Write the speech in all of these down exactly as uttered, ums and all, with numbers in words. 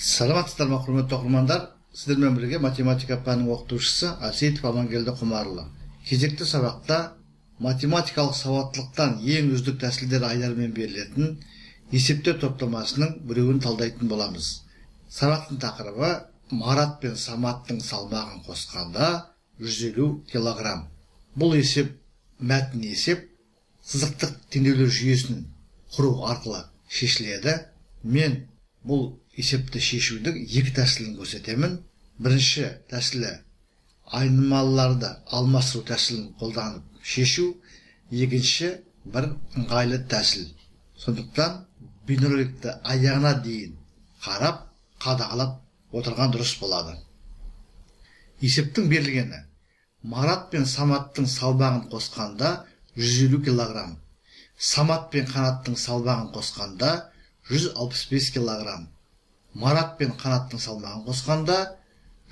Саламатсыздар ма, құрметті оқырмандар? Сіздермен бірге математика пәнінің оқытушысы Асейтов Амангелді Құмарұлы. Кезекті сабақта математикалық сауаттылықтан ең үздік тәсілдер айлармен берілетін есептер топтамасының біреуін талдайтын боламыз. Сабақтың тақырыбы Марат пен Саматтың салмағын қосқанда жүз елу килограмм. Бұл есеп мәтін есеп сызықтық теңдеулер жүйесін құру арқылы шешіледі. Мен бұл есепті шешудің екі тәсілін көрсетемін. Бірінші тәсілі айнымалыларды алмастыру тәсілін қолданып шешу, екінші бір ыңғайлы тәсіл. Сондықтан бейнероликті аяғына дейін қарап, қадағалап отырған дұрыс болады. Есептің берілгені: Марат пен Саматтың салмағын қосқанда жүз елу килограмм. Самат пен Қанаттың салмағын қосқанда жүз алпыс бес килограмм. Марат пен Қанаттың салмағын қосқанда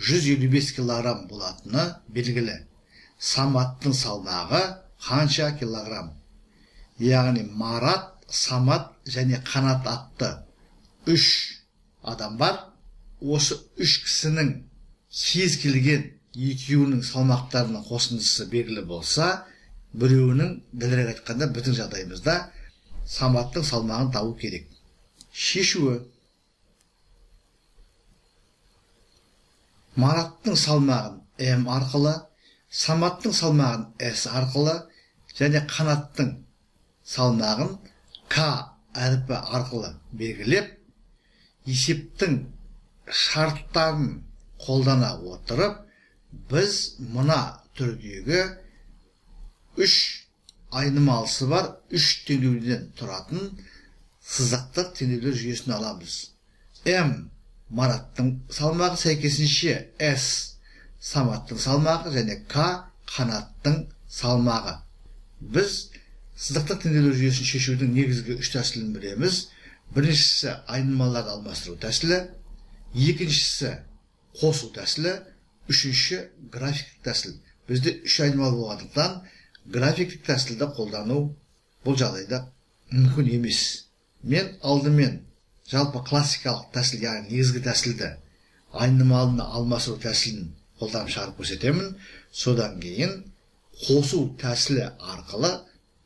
жүз елу бес килограмм болатыны белгілі. Саматтың салмағы қанша килограмм? Яғни Марат, Самат және Қанат атты үш адам бар. Осы үш кісінің кез келген екеуінің салмақтарының қосындысы белгілі болса, біреуінің, дәлірек айтқанда біздің жағдайымызда Саматтың салмағын табу керек. Шешуі: Мараттың салмағын М арқылы, Саматтың салмағын С арқылы және Қанаттың салмағын К әріпі арқылы белгілеп, есептің шарттарын қолдана отырып, біз мына түрдегі үш айнымалысы бар үш теңдеуден тұратын сызықтық теңдеулер жүйесін аламыз. М Мараттың салмағы, сәйкесінше S Саматтың салмағы және К Қанаттың салмағы. Біз сызықтық теңдеулер жүйесін шешудің негізгі үш тәсілін білеміз. Біріншісі айнымалыларды алмастыру тәсілі, екіншісі қосу тәсілі, үшінші графиктік тәсіл. Бізде үш айнымалы болғандықтан графиктік тәсілді қолдану бұл жағдайда мүмкін емес. Мен алдымен жалпы классикалық тәсіл, яғни негізгі тәсілді, айнымалыны алмастыру тәсілін қолданып шығарып көрсетемін. Содан кейін қосу тәсілі арқылы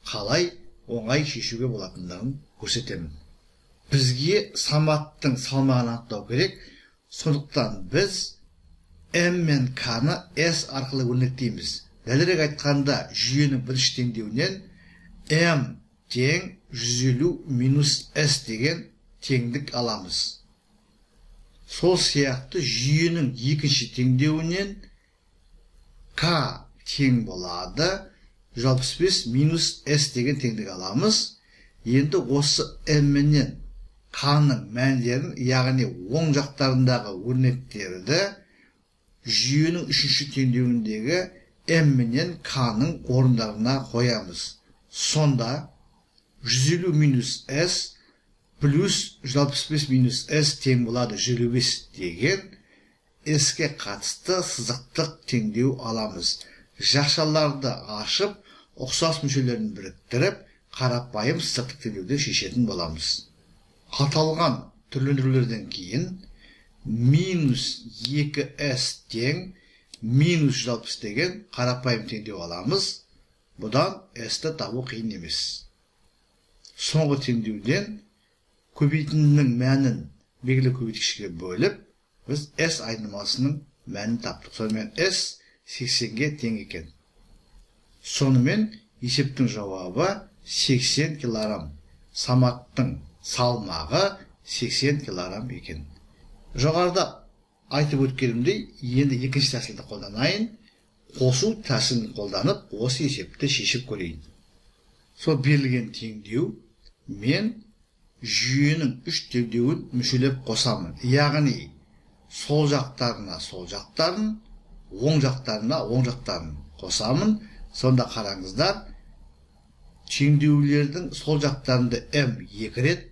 қалай оңай шешуге болатындығын көрсетемін. Бізге Саматтың салмағын анықтау керек. Сондықтан біз М мен К-ны S арқылы өрнектейміз. Дәлірек айтқанда, жүйенің бірінші теңдеуінен М тең жүз елу минус S деген теңдік аламыз. Сол сияқты жүйенің екінші теңдеуінен К тең болады жүз алпыс бес минус S деген теңдік аламыз. Енді осы М менен К-ның мәндерін, яғни оң жақтарындағы өрнектерді жүйенің үшінші теңдеуіндегі М менен К-ның орындарына қоямыз. Сонда жүз елу минус S плюс жүз алпыс бес минус S тең болады жүз елу бес деген S-ке қатысты сызықтық теңдеу аламыз. Жақшаларды ашып, ұқсас мүшелерін біріктіріп, қарапайым сызықтық теңдеуді шешетін боламыз. Аталған түрлендірулерден кейін минус екі S тең минус жүз алпыс деген қарапайым теңдеу аламыз. Бұдан S-ті табу қиын емес. Соңғы теңдеуден көбейтіндінің мәнін белгілі көбейткішке бөліп, біз S айнымалысының мәнін таптық. Сонымен S сексенге тең екен. Сонымен есептің жауабы сексен килограмм. Саматтың салмағы сексен килограмм екен. Жоғарыда айтып өткенімдей, енді екінші тәсілді қолданайын. Қосу тәсілін қолданып, осы есепті шешіп көрейін. Сол берілген теңдеу мен жүйенің үш теңдеуін мүшелеп қосамын. Яғни сол жақтарына сол жақтарын, оң жақтарына оң жақтарын қосамын. Сонда қараңыздар, теңдеулердің сол жақтарында М екі рет,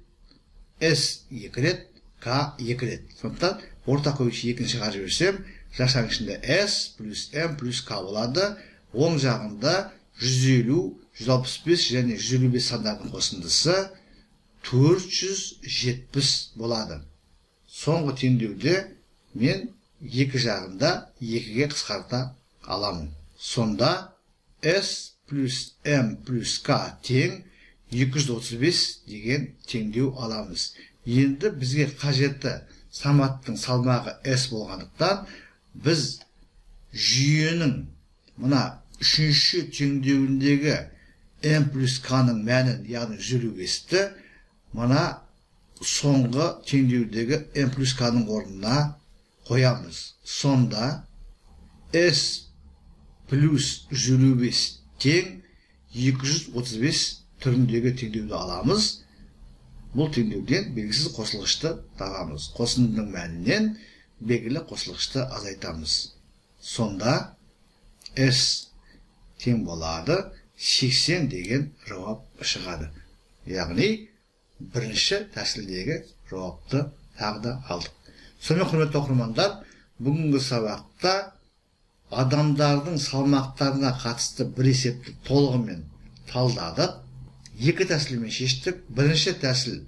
S екі рет, К екі рет. Сондықтан орта көбейтші екінші шығарып жіберсем, жақшаның ішінде S плюс М плюс К болады. Оң жағында жүз елу, жүз алпыс бес және жүз елу бес сандардың қосындысы төрт жүз жетпіс болады. соңғы теңдеуде мен екі жағында екіге қысқарта аламын. Сонда S плюс M плюс K тең екі жүз отыз бес деген теңдеу аламыз. Енді бізге қажетті саматтың салмағы S болғандықтан біз жүйенің мына үшінші теңдеуіндегі M плюс K-ның мәнін, яғни жүз елу бесті мына соңғы теңдеудегі M плюс K-ның орнына қоямыз. Сонда S плюс жүз елу бес тең екі жүз отыз бес түріндегі теңдеуді аламыз. Бұл теңдеуден белгісіз қосылғышты табамыз. Қосындының мәнінен белгілі қосылғышты азайтамыз. Сонда S тең болады сексен деген жауап шығады. Яғни бірінші тәсілдегі жауапты тағы да алдық. Сонымен құрметті оқырмандар, бүгінгі сабақта адамдардың салмақтарына қатысты бір есепті толығымен талдадық. Екі тәсілмен шештік. Бірінші тәсіл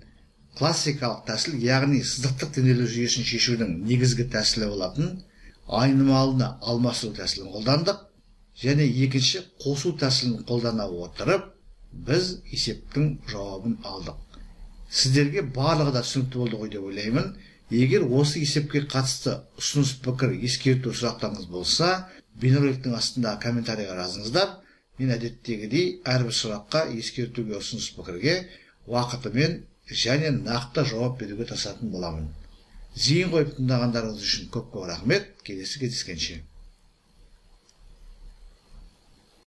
классикалық тәсіл, яғни сызықтық денелер жүйесін шешудің негізгі тәсілі болатын айнымалыны алмастыру тәсілін қолдандық. Және екінші қосу тәсілін қолдана отырып, біз есептің жауабын алдық. Сіздерге барлығы да түсінікті болды ғой деп ойлаймын. Егер осы есепке қатысты ұсыныс пікір, ескерту сұрақтарыңыз болса, бейнероликтің астында комментарийға жазыңыздар. Мен әдеттегідей әрбір сұраққа, ескертуге, ұсыныс пікірге уақытымен және нақты жауап беруге тырысатын боламын. Зейін қойып тыңдағандарыңыз үшін көп-көп рахмет. Келесі кездескенше.